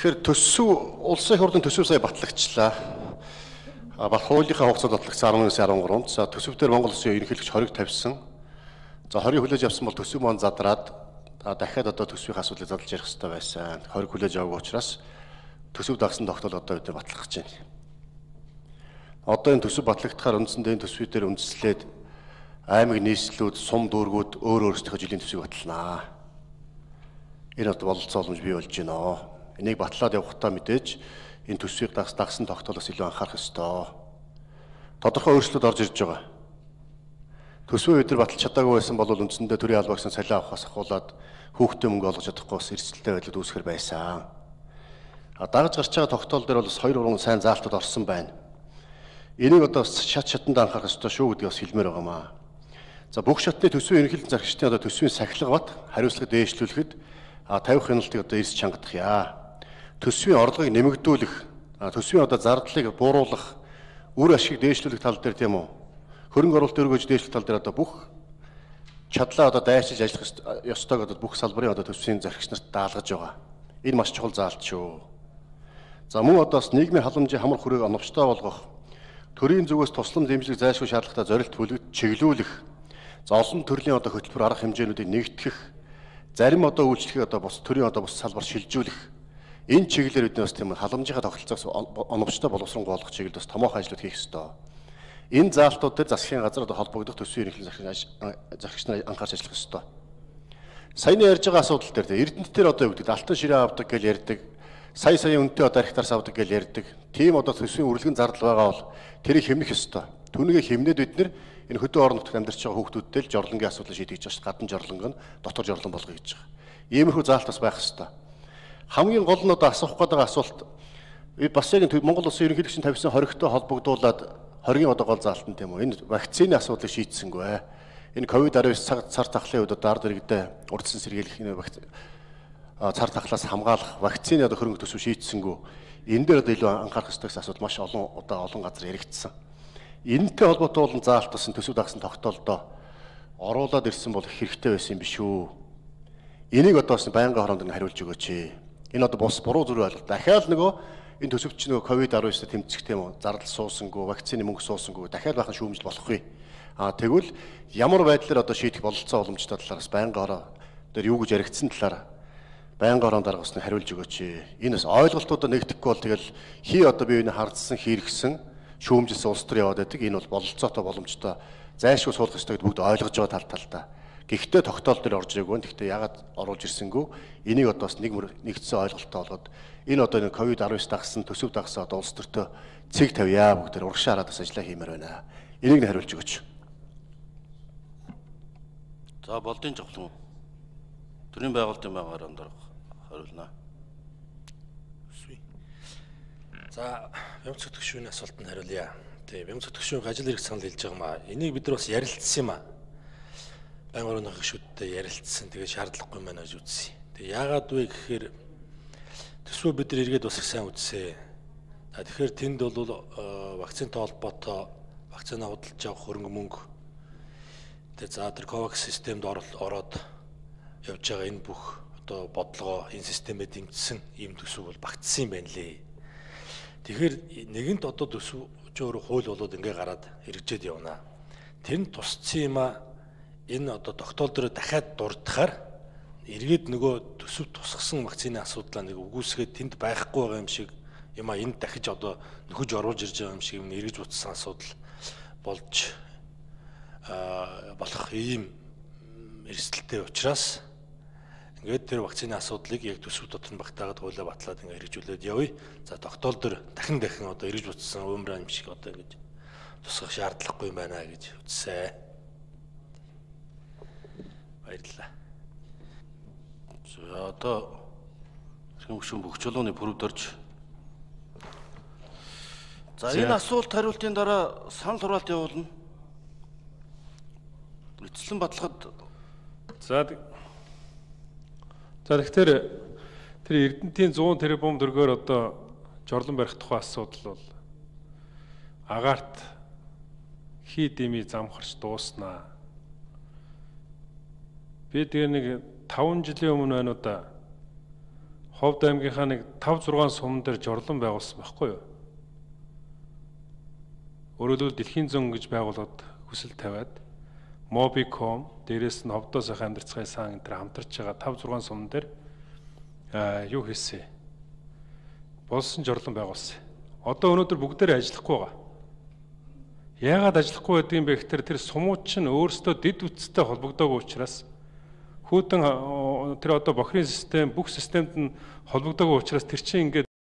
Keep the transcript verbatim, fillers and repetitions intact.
Тэгэхээр төсөв улсын хурлын төсөв сая батлагчлаа. А баг хуулийнхаа хугацаанд батлагдсан арван нэгээс арван гурав. За төсөв дээр Монгол Улсын ерөнхийлөгч хориг тавьсан. За хориг хүлээж авсан бол төсөв маань задраад дахиад одоо төсвийн асуудлыг задлж ярих хэрэгтэй байсан. Хориг хүлээж аваагүй учраас төсөв дагсан тогтоол одоо бид батлах гэж байна. Одоо энэ төсөв батлагдахаар үндсэндээ энэ төсвийн дээр үндэслээд аймаг нийслэлүүд, сум дүүргүүд өөр өөрсдийнхөө жилийн төсвийг батлнаа. Энэ одоо бололцоо боломж бий болж байна. Энийг батлаад явахдаа мэдээж энэ төсвийг дагсан тогтоолоос илүү анхаарах ёстой. Тодорхой өөрчлөлт орж ирж байгаа. Төсвөө өдөр баталж чадаагүй байсан бол үндсэндээ төрийн албаагсан салиа авахаас ахуулаад хүүхдээ мөнгө олгож чадахгүй бас эрсдэлтэй байдлаар үүсгэр байсан. А дагаж гарч байгаа тогтоол дээр бол бас хоёр уран сайн заалтууд орсон байна. Энийг одоо шат шатанд анхаарах ёстой шүү гэдгийг бас хэлмээр байгаамаа. За бүх шатны төсвийн ерөнхийлөгчийн зарчмын одоо төсвийн сахилга бат хариуцлага дээшлүүлэхэд тавих хяналтыг одоо эрс чангадахъя. Төсвийн орлогыг нэмэгдүүлэх, төсвийн одоо зардлыг бууруулах, үр ашиг дээшлүүлэх тал дээр тийм үү? Хөрөнгө оруулалт өргөж дээшлэх тал дээр одоо бүх чадлаа одоо дайчилж ажиллах ёстойг одоо бүх салбарын одоо төсвийн зарчигч нарт даалгаж байгаа. Энэ маш чухал заалт шүү. За мөн одоо бас нийгмийн халамжийн хамар хүрээг оновчтой болгох, төрийн зүгээс туслам дэмжлэг зайлшгүй шаардлагатай зорилт бүлэгт чиглүүлэх, за олон төрлийн одоо хөтөлбөр арга хэмжээнүүдийг нэгтгэх, зарим одоо үйлчлэгийг одоо бус төрийн одоо бус салбар шилжүүлэх. Энэ чиглэлээр бид бас тийм халамжийнхаа тогтолцоос оновчтой боловсронгуй болгох чиглэлд бас томоохон ажлууд хийх ёстой. Энэ заалтууд дээр засгийн газар одоо холбогдох төсвийн ерөнхийлөгчийн зарчигч нар анхаарч ажиллах ёстой. Саяны ярьж байгаа асуудал дээр Эрдэнэт дээр одоо юу гэдэг алтан ширээ авдаг гэж ярьдаг, сая сая үнэтэй одоо архитектарс авдаг гэж ярьдаг. Тийм одоо төсвийн үргэлгэн зардал байгаа бол тэрийг хэмнэх ёстой. Түүнийг хэмнээд бид нэр энэ хөдөө орон нутагт амьдарч байгаа хүүхдүүдтэй л жорлонгийн асуудлыг шийдэж байгаа шүү. Гадна жорлонго нь дотор жорлон болгоё гэж байгаа. Иймэрхүү заалт бас байх ёстой. Хамгийн гол нь одоо асуух гэдэг асуулт бас яг Монгол Улсын ерөнхийлөгчийн тавьсан хоригтой холбогдуулаад хоригийн одоо гол заалт нь тийм үү? Энэ вакцины асуудлыг шийдсэнгүй. Энэ ковид арван девять цар тахлын үед одоо ард иргэдээ урдсан сэргийлэх энэ цар тахлаас хамгаалах вакцины одоо хөрөнгө төсөв шийдсэнгүй. Энэ дээр одоо илүү анхаарах ёстой гэсэн асуудал маш олон удаа олон газар яригдсан. Энэтэй холбоотой болон заалт бас төсөв дагсан тогтоолдоо оруулаад ирсэн бол хэрэгтэй байсан юм биш үү? Энийг одоо бас байнгын хороонд хариулж өгөөч. Энэ одоо бус буруу зүрх ойлголт. Дахиад нөгөө энэ төсөвч нөгөө ковид арван девять тэмцэх тийм үү? Зардал суусангүй, вакцины мөнгө суусангүй дахиад бахан шүүмжил болохгүй. Аа тэгвэл ямар байдлаар одоо шийдэх бололцоо боломжтой талаараас байнгын хороо дээр юу гэж яригдсан талаар байнгын хороонд дарга усны хариулж өгөөч. Энэ бас ойлголтуудаа нэгдэхгүй бол тэгэл хий одоо бие биенээ хардсан, хэрэгсэн, шүүмжилсэн улс төр яваад байдаг. Энэ бол бололцоотой боломжтой зайлшгүй суулгах ёстой гэдгийг бүгд ойлгож байгаа тал талдаа. Гэхдээ тогтоол дээр орж ирээгүй. Гэхдээ ягаад оруулж ирсэнгүй? Энийг одоо бас нэг нэгдсэн ойлголттой болгоод энэ одоо энэ ковид арван девять дагсан, төсөв дагсан одоо улс төртөө цэг тавья бүгдээр урагшаа хараад бас ажиллаа хиймээр байна. Энийг нь хариулж өгөөч. За болдын жавхлан төрийн байгуулалтын байгаараа дарга хариулнаа. За бямц хөтгшүүний асуултанд хариулъя. Тэг бямц хөтгшүүний ажил хэрэг санал хэлж байгаа маа. Энийг бид нар бас ярилцсан юм аа. Байнгын хорооны гишүүдтэй ярилцсан. Тэгээ шаардлагагүй маань гэж үзсэн. Тэгээ яагаад вэ гэхээр төсвөө бид нар эргээд бас их сайн үзсэн. За тэгэхээр тэнд бол вакцинтай холбоотой вакцина худалдаж авах хөрөнгө мөнгө тэгээ за тэр ковакс системд ороод явж байгаа энэ бүх одоо бодлогоо энэ системээр дэмжсэн ийм төсөв бол багтсан юм байна лээ. Тэгэхээр нэгэнт одоо төсөв ч өөрөө хууль болоод ингээ гараад хэрэгжээд явна. Тэр нь тусцсан юм а энэ одоо тогтоол дээр дахиад дурдахаар эргээд нөгөө төсөв тусгасан вакцины асуудлаа нэг үгүйсгээд тэнд байхгүй байгаа юм шиг юм а энд дахиж одоо нөхөж оруулж ирж байгаа юм шиг юм эргэж утсан асуудал болж болох ийм эрсдэлтэй учраас ингээд тэр вакцины асуудлыг яг төсөв дотор нь багтаагаад хуулиа батлаад ингээд хэрэгжүүлээд явъя. За тогтоол дээр дахин дахин одоо эргэж утсан уумраа юм шиг одоо ингэж тусгах шаардлагагүй юм байна гэж үзсэн. Баярлалаа. За одоо хэрхэн гүшүүн бүх чулууны бүрд орж. За энэ асуулт хариултын дараа санал хураалт явуулна. Эцэслэн баталгад За За тэгэхээр тэр Эрдэнэтийн цуун тэрбум төгрөгөөр одоо жорлон барих тухай асуудал бол агаарт хий дэмий замхарч дууснаа. Би тэгээ нэг таван жилийн өмнө байна уу да Ховд аймгийнхаа нэг тавь зургаан суман дээр жорлон байгуулсан байхгүй юу? Өөрөөр хэлбэл дэлхийн зөн гэж байгууллагад хүсэл тавиад Mobicom дээрээс нь Ховдоо сайхан амьдарцгай сан энэ төр хамтарч байгаа тавь зургаан суман дээр аа юу хийсэн? Болсон жорлон байгуулсан. Одоо өнөөдөр бүгдээр ажиллахгүй байгаа. Яагаад ажиллахгүй байдгийг бэ гэхээр тэр сумууд чинь өөрсдөө дэд үтцтэй холбогдоогүй учраас хүүтэн тэр одоо бохирын систем бүх системд нь холбогдоогүй учраас тэр чинь ингээд